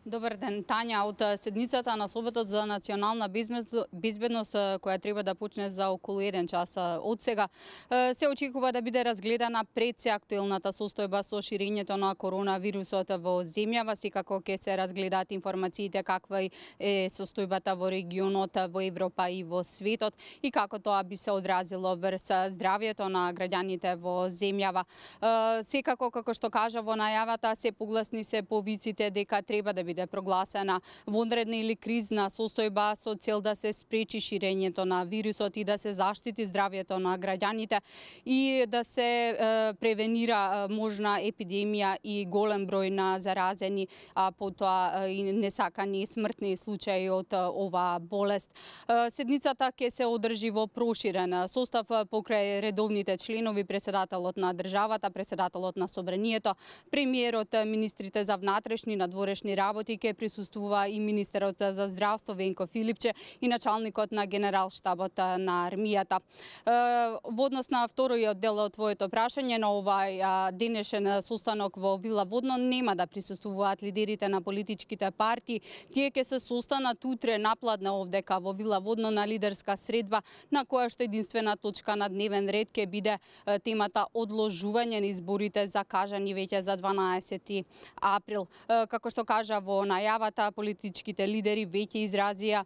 Добар ден, Тања. Од седницата на Советот за национална безбедност, која треба да почне за околу 1 час од сега, се очекува да биде разгледана пред се актуелната состојба со ширењето на коронавирусот во земјава, секако ќе се разгледаат информациите каква е состојбата во регионот, во Европа и во светот и како тоа би се одразило врз здравјето на граѓаните во земјава. Секако, како што кажа во најавата, се погласни се повиците дека треба да биде прогласена вонредна или кризна состојба со цел да се спречи ширењето на вирусот и да се заштити здравјето на граѓаните и да се превенира можна епидемија и голем број на заразени, а потоа и несакани смртни случаи од оваа болест. Седницата ќе се одржи во проширен состав покрај редовните членови, председателот на државата, председателот на собранието, премиерот, министрите за внатрешни и надворешни работи, ќе присуствува и министерот за здравство Венко Филипче и началникот на генералштабот на армијата. Во однос на вториот дел од твоето прашање, на овај денешен состанок во Вила Водно нема да присуствуваат лидерите на политичките партии. Тие ќе се состанат утре напладне овдека во Вила Водно на лидерска средба, на која што единствена точка на дневен ред ќе биде темата одложување на изборите закажани веќе за 12 април. Како што кажа во најавата, политичките лидери веќе изразија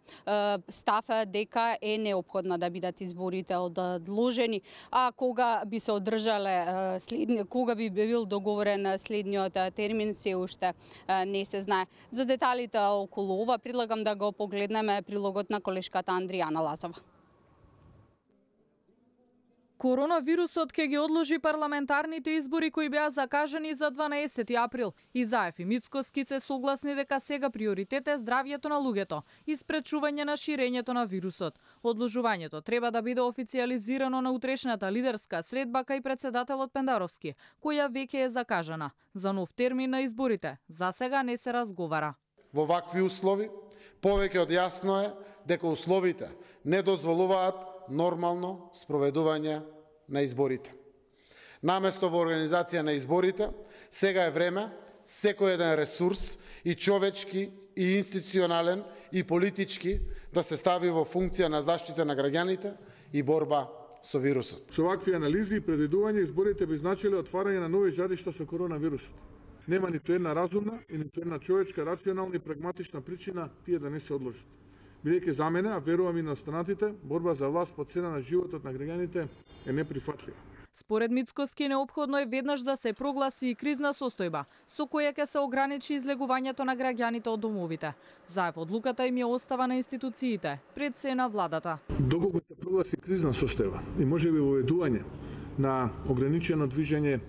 став дека е неопходно да бидат изборите одложени, а кога би се одржале кога би бил договорен следниот термин се уште не се знае. За деталите околу ова предлагам да го погледнеме прилогот на колешката Андријана Лазова. Коронавирусот ќе ги одложи парламентарните избори кои беа закажани за 12 април. Изаев и Мицкоски се согласни дека сега приоритет е здравјето на луѓето и спречување на ширењето на вирусот. Одложувањето треба да биде официјализирано на утрешната лидерска средба кај председателот Пендаровски, која веќе е закажана. За нов термин на изборите за сега не се разговара. Во вакви услови повеќе од јасно е дека условите не дозволуваат нормално спроведување на изборите. Наместо во организација на изборите, сега е време секој еден ресурс и човечки, и институционален, и политички да се стави во функција на заштита на граѓаните и борба со вирусот. Со вакви анализи и предвидување изборите би значиле отварање на нови жаришта со коронавирусот. Нема ниту една разумна и ниту една човечка, рационална и прагматична причина тие да не се одложат. Бидејќи за мене, а верувам и на останатите, борба за власт по цена на животот на граѓаните е неприфатлива. Според Мицкоски неопходно е веднаш да се прогласи и кризна состојба, со која ќе се ограничи излегувањето на граѓаните од домовите. Заев одлуката им ја остава на институциите, пред се на владата. Доколку се прогласи кризна состојба и можеби воведување на ограничено движење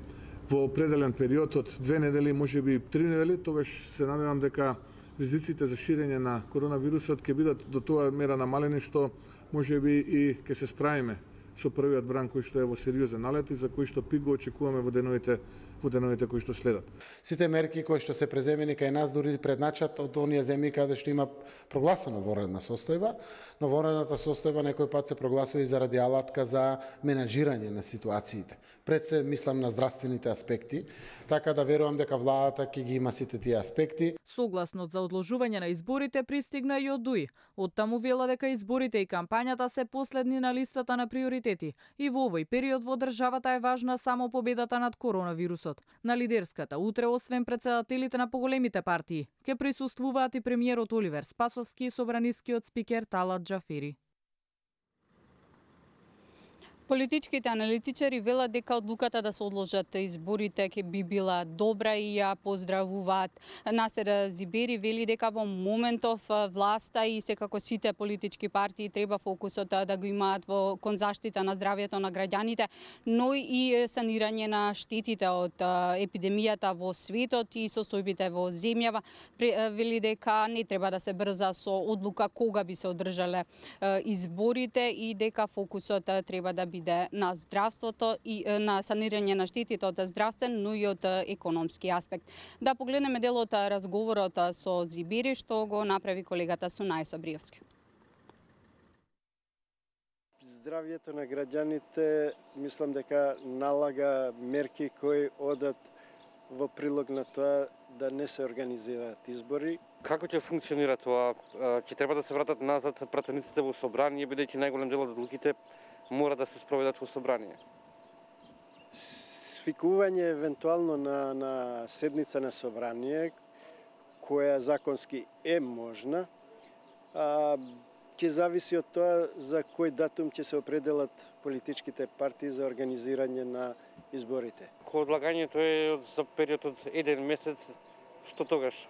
во определен период од 2 недели, можеби 3 недели, тогаш се надевам дека ризиците за ширење на коронавирусот ќе бидат до тоа мера намалени што можеби и ќе се справиме со првиот бран кој што е во сериозен налет и за кој што пик го очекуваме во деновите кои што следат. Сите мерки кои што се преземени кај нас дури предначат од оние земји каде што има прогласена вонредна состојба, но вонредната состојба некој пат се прогласува и заради алатка за менаџирање на ситуациите. Пред се мислам на здравствените аспекти, така да верувам дека владата ќе ги има сите тие аспекти. Согласност за одложување на изборите пристигна и од ДУИ. Од таму вела дека изборите и кампањата се последни на листата на приоритети и во овој период во државата е важна само победата над коронавирусот. На лидерската утре, освен председателите на поголемите партии, ќе присуствуваат и премиерот Оливер Спасовски и собранискиот спикер Талат Џафери. Политичките аналитичари велат дека одлуката да се одложат изборите ќе би била добра и ја поздравуваат. Насер Зибери вели дека во моментов власта и секако сите политички партии треба фокусот да го имаат кон заштита на здравјето на граѓаните, но и санирање на штетите од епидемијата во светот и состојбите во земјава. Вели дека не треба да се брза со одлука кога би се одржале изборите и дека фокусот треба да биде на здравството и на санирање на штетите од здравствен, но и од економски аспект. Да погледнеме дел од разговорот со Зибери што го направи колегата Сунај Сабриевски. Здравјето на граѓаните мислам дека налага мерки кои одат во прилог на тоа да не се организираат избори. Како ќе функционира тоа? Ќе треба да се вратат назад пратениците во собрание, бидејќи најголем дел од одлуките мора да се спроведат во собрание? Свикување евентуално на седница на собрание, која законски е можна, ќе зависи од тоа за кој датум ќе се определат политичките партии за организирање на изборите. Кога одлагањето е за период од 1 месец, што тогаш?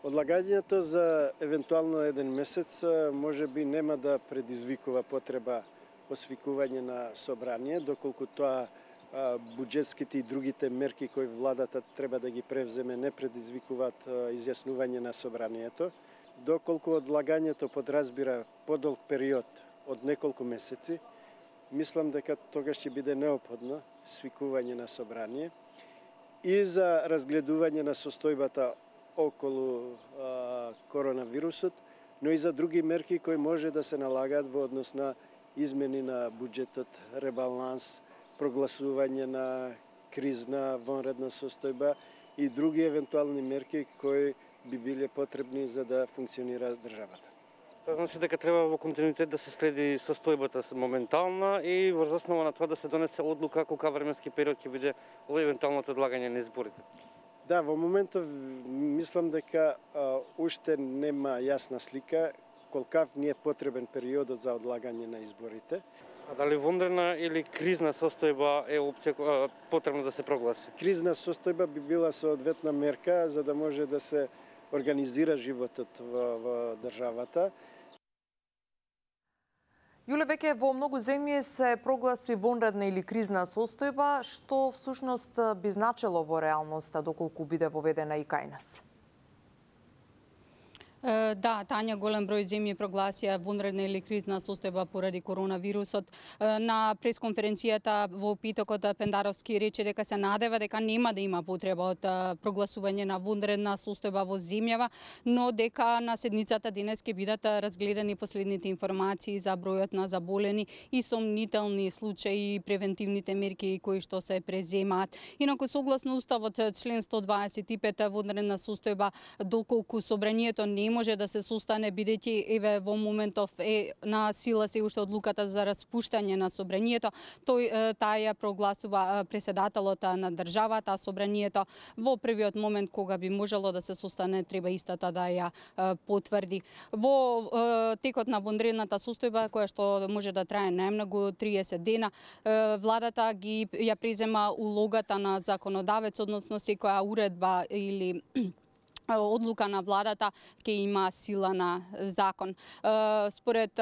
Одлагањето за евентуално 1 месец може би нема да предизвикува потреба освикување на собрание, доколку тоа буџетските и другите мерки кои владата треба да ги превземе не предизвикуваат изјаснување на собранието. Доколку одлагањето подразбира подолг период од неколку месеци, мислам дека тогаш ќе биде неопходно свикување на собрание и за разгледување на состојбата околу коронавирусот, но и за други мерки кои може да се налагаат во однос на измени на буџетот, ребаланс, прогласување на кризна вонредна состојба и други евентуални мерки кои би биле потребни за да функционира државата. Тоа значи дека треба во континуитет да се следи состојбата моментална и врз основа на тоа да се донесе одлука колка временски период ќе биде евентуалното одлагање на изборите. Да, во моментов мислам дека уште нема јасна слика колкав ни е потребен периодот за одлагање на изборите. А дали вонредна или кризна состојба е опција потребно да се прогласи? Кризна состојба би била соодветна мерка за да може да се организира животот во државата. Јуле, веќе во многу земји се прогласи вонредна или кризна состојба, што всушност би значело во реалноста доколку биде воведена и кај нас? Да, Тања, голем број земји прогласија вонредна или кризна состојба поради коронавирусот. На пресконференцијата во питокот Пендаровски рече дека се надева дека нема да има потреба од прогласување на вонредна состојба во земјава, но дека на седницата денес ќе бидат разгледани последните информации за бројот на заболени и сомнителни случаи и превентивните мерки кои што се преземаат. Инаку согласно уставот член 125 вонредна состојба доколку собранието не може да се состане бидејќи еве во моментов е на сила се уште одлуката за распуштање на собранието, таа ја прогласува претседателот на државата, собранието во првиот момент кога би можело да се состане треба истата да ја потврди. Во текот на вонредната состојба која што може да трае најмногу 30 дена, владата ја презема улогата на законодавец, односно секоја уредба или одлука на владата ќе има сила на закон. Според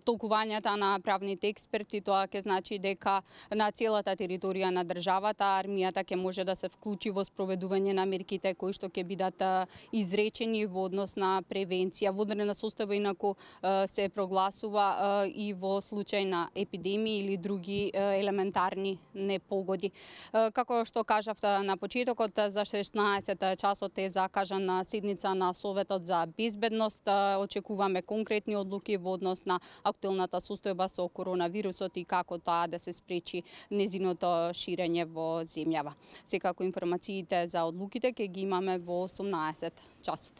толкувањата на правните експерти, тоа ќе значи дека на целата територија на државата армијата ќе може да се вклучи во спроведување на мерките кои што ќе бидат изречени во однос на превенција. Вонредна состојба инаку се прогласува и во случај на епидемии или други елементарни непогоди. Како што кажав на почетокот, за 16 часот е закажан на седница на Советот за безбедност. Очекуваме конкретни одлуки во однос на актуелната состојба со коронавирусот и како тоа да се спречи незиното ширење во земјава. Секако информациите за одлуките ќе ги имаме во 18 часот.